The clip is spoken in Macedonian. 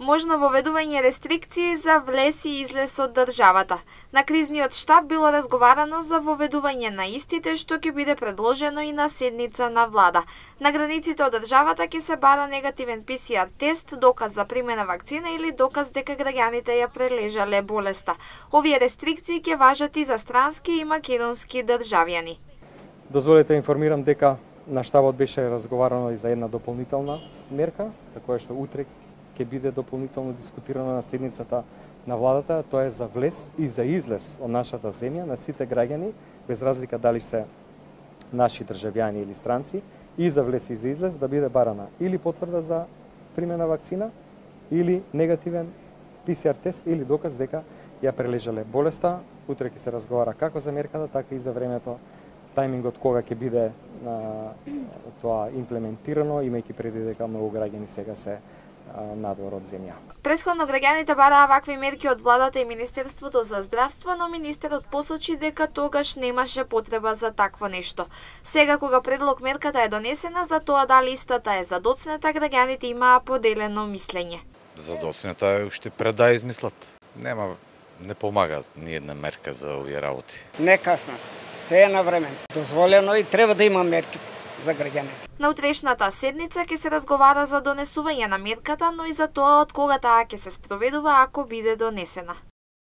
Можно воведување рестрикции за влез и излез од државата. На кризниот штаб било разговарано за воведување на истите, што ќе биде предложено и на седница на влада. На границите од државата ќе се бара негативен ПСР тест, доказ за примена вакцина или доказ дека граѓаните ја прележале болеста. Овие рестрикции ќе важат и за странски и македонски државјани. Дозволете информирам дека на штабот беше разговарано и за една дополнителна мерка, за која што утре ќе биде дополнително дискутирано на седницата на владата. Тоа е за влез и за излез од нашата земја на сите граѓани, без разлика дали се наши државјани или странци, и за влез и за излез да биде барана или потврда за примена вакцина, или негативен ПСР тест, или доказ дека ја прележале болеста. Утре ќе се разговара како за мерката, така и за времето, тајмингот кога ќе биде тоа имплементирано, имајќи преди дека многу граѓани сега се надвор од земја. Претходно граѓаните бараа вакви мерки од владата и Министерството за здравство, но министерот посочи дека тогаш немаше потреба за такво нешто. Сега кога предлог мерката е донесена, за тоа дали истата е задоцнета, граѓаните имаа поделено мислење. Задоцнета е уште пред да измислат. Не помага ни една мерка за овие работи. Не касно, се е на време. Дозволено и треба да има мерки за граѓаните. На утрешната седница ќе се разговара за донесување на мерката, но и за тоа од кога таа ќе се спроведува ако биде донесена.